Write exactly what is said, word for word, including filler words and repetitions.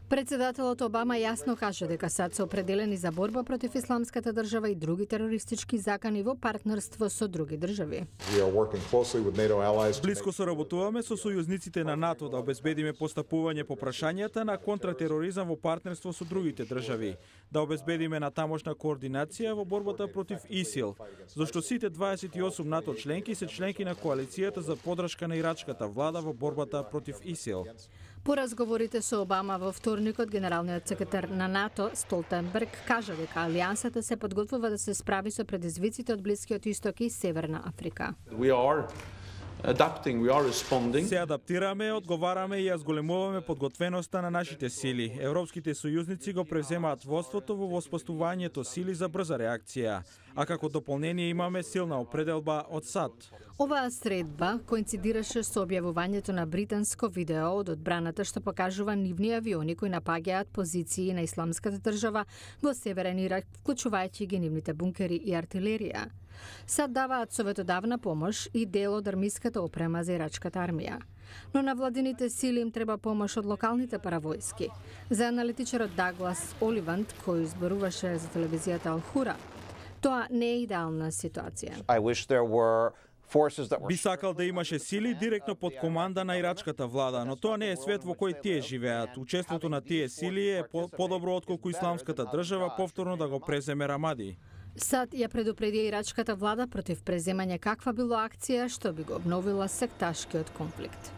Председателот Обама јасно кажа дека САД се определени за борба против исламската држава и други терористички закани во партнерство со други држави. Блиско соработуваме со сојузниците на НАТО да обезбедиме постапување по прашањата на контратероризам во партнерство со другите држави, да обезбедиме натамошна координација во борбата против ИСИЛ, зашто сите дваесет и осум НАТО членки се членки на коалицијата за поддршка на ирачката влада во борбата против ИСИЛ. По разговорите со Обама во вторникот, генералниот секретар на НАТО Столтенберг кажа дека алијансата се подготвува да се справи со предизвиците од Блискиот Исток и Северна Африка. We are adapting, we are responding. Се адаптираме, одговараме и ја зголемуваме подготвеноста на нашите сили. Европските сојузници го превземаат водството во воспоставувањето сили за брза реакција, а како дополнение имаме силна определба од САД. Оваа средба коинцидираше со објавувањето на британско видео од одбраната што покажува нивни авиони кои напаѓаат позиции на исламската држава во Северен Ирак, вклучувајќи ги нивните бункери и артилерија. САД даваат советодавна помош и дел од армиската опрема за ирачката армија. Но на владините сили им треба помош од локалните паравојски. За аналитичарот Даглас Оливанд, кој изборуваше за телевизијата Ал-Хура, тоа не е идеална ситуација. I wish there were forces that were... Би сакал да имаше сили директно под команда на ирачката влада, но тоа не е свет во кој тие живеат. Учеството на тие сили е подобро отколку исламската држава повторно да го преземе Рамади. САД ја предупреди ирачката влада против преземање каква било акција што би го обновила секташкиот конфликт.